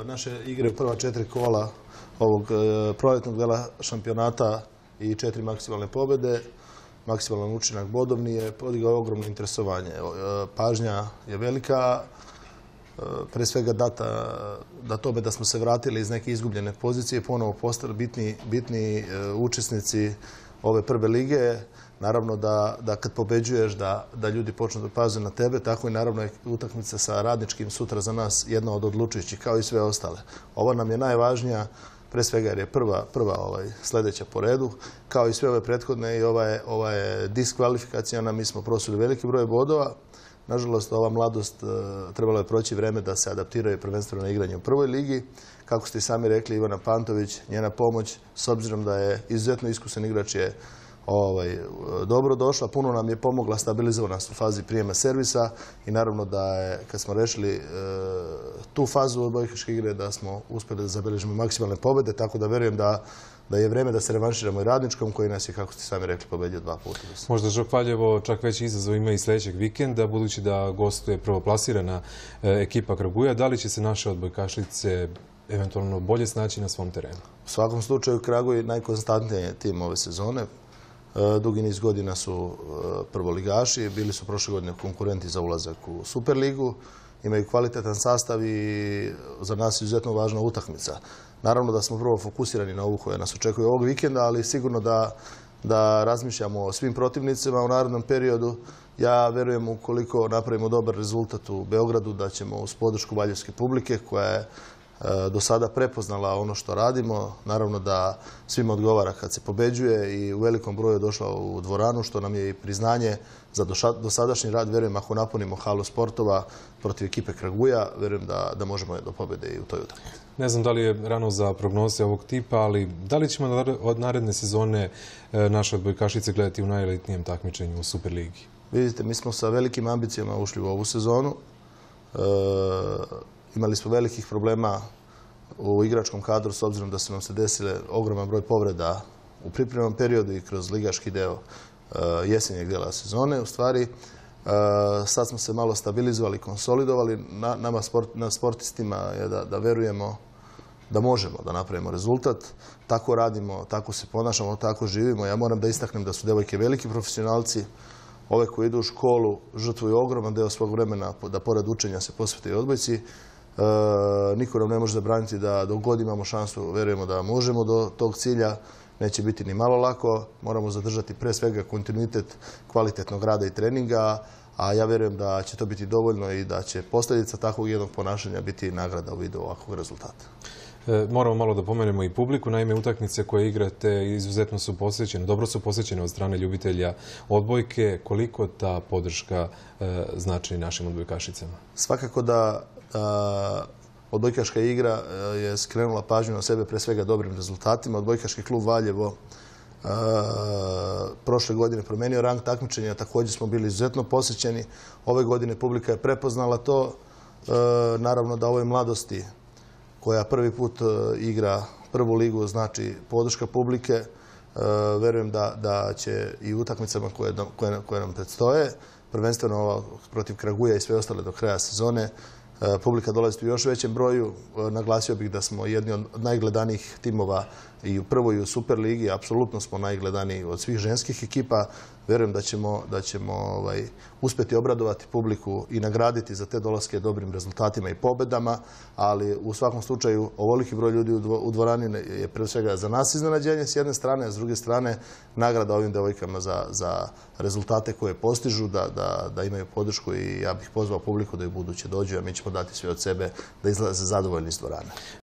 naše igre u prva 4 kola ovog proljetnog dela šampionata i 4 maksimalne pobjede. Maksimalan učinak bodovni je podigao ogromno interesovanje. Pažnja je velika, pre svega data da tome da smo se vratili iz neke izgubljene pozicije, ponovo postali bitni učesnici ove prve lige. Naravno da kad pobeđuješ da ljudi počnu da paze na tebe, tako i naravno je utakmica sa Radničkim sutra za nas jedna od odlučujućih, kao i sve ostale. Ova nam je najvažnija, pre svega jer je prva sljedeća po redu, kao i sve ove prethodne i ova je diskvalifikacijana. Mi smo prosuli veliki broj bodova. Nažalost, ova mladost trebalo je proći vreme da se adaptiraju prvenstveno na igranje u prvoj ligi. Kako ste i sami rekli, Ivana Pantović, njena pomoć, s obzirom da je izuzetno iskusan igrač, je dobro došla. Puno nam je pomogla, stabilizovana u fazi prijema servisa i naravno da je, kad smo rešili tu fazu odbojkaške igre, da smo uspjeli da zabeležimo maksimalne pobjede, tako da verujem da je vreme da se revanširamo i Radničkom, koji nas je, kako ste sami rekli, pobedio 2 puta. Možda Žok Valjevo čak veći izazov ima i sljedećeg vikenda, budući da gostuje prvoplasirana ekipa Kraguja. Da li će se naše odbojkašice eventualno bolje snaći na svom terenu? U svakom slučaju, Kraguj je najkonstantniji tim ove sezone. Dugi niz godina su prvoligaši, bili su prošle godine konkurenti za ulazak u Superligu, imaju kvalitetan sastav i za nas je izuzetno važna utakmica. Naravno da smo prvo fokusirani na ovu koja nas očekuje ovog vikenda, ali sigurno da razmišljamo o svim protivnicima u narednom periodu. Ja verujem, ukoliko napravimo dobar rezultat u Beogradu, da ćemo uz podršku valjevske publike, koja je do sada prepoznala ono što radimo. Naravno da svima odgovara kad se pobeđuje i u velikom broju je došla u dvoranu, što nam je i priznanje za dosadašnji rad. Verujem, ako napunimo halu sportova protiv ekipe Kraguja, verujem da možemo do pobjede i u toj utakmici. Ne znam da li je rano za prognoze ovog tipa, ali da li ćemo od naredne sezone naše odbojkašice gledati u najelitnijem takmičenju u Superligi? Vidite, mi smo sa velikim ambicijama ušli u ovu sezonu. Imali smo velikih problema u igračkom kadru, s obzirom da su nam se desile ogroman broj povreda u pripremnom periodu i kroz ligaški deo jesenjeg dela sezone. U stvari, sad smo se malo stabilizovali, konsolidovali. Na sportistima je da verujemo da možemo da napravimo rezultat. Tako radimo, tako se ponašamo, tako živimo. Ja moram da istaknem da su devojke veliki profesionalci. Ove koji idu u školu žrtvuju ogroman deo svog vremena da pored učenja se posvete i odbojci. Niko nam ne može zabraniti da dok god imamo šansu, verujemo da možemo do tog cilja. Neće biti ni malo lako. Moramo zadržati pre svega kontinuitet kvalitetnog rada i treninga, a ja verujem da će to biti dovoljno i da će posljedica takvog jednog ponašanja biti nagrada u vidu ovakvog rezultata. Moramo malo da pomenemo i publiku. Naime, utakmice koje igrate izuzetno su posvećene, dobro su posvećene od strane ljubitelja odbojke. Koliko ta podrška znači našim odbojkašicama? Svakako da odbojkaška igra je skrenula pažnju na sebe pre svega dobrim rezultatima. Odbojkaški klub Valjevo prošle godine promenio rang takmičenja, također smo bili izuzetno posjećeni. Ove godine publika je prepoznala to. Naravno da ovoj mladosti koja prvi put igra prvu ligu znači podrška publike. Verujem da će i utakmicama koje nam predstoje, prvenstveno ova protiv Kraguja i sve ostale do kraja sezone, publika dolazi u još većem broju. Naglasio bih da smo jedni od najgledanijih timova i u prvoj i u Superligi. Apsolutno smo najgledaniji od svih ženskih ekipa. Verujem da ćemo uspjeti obradovati publiku i nagraditi za te dolaske dobrim rezultatima i pobedama, ali u svakom slučaju ovoliki broj ljudi u dvorani je pre svega za nas iznenađenje s jedne strane, a s druge strane nagrada ovim devojkama za rezultate koje postižu, da imaju podršku i ja bih pozvao publiku da i buduće dođu, a mi ćemo dati sve od sebe da izlaze zadovoljni iz dvorane.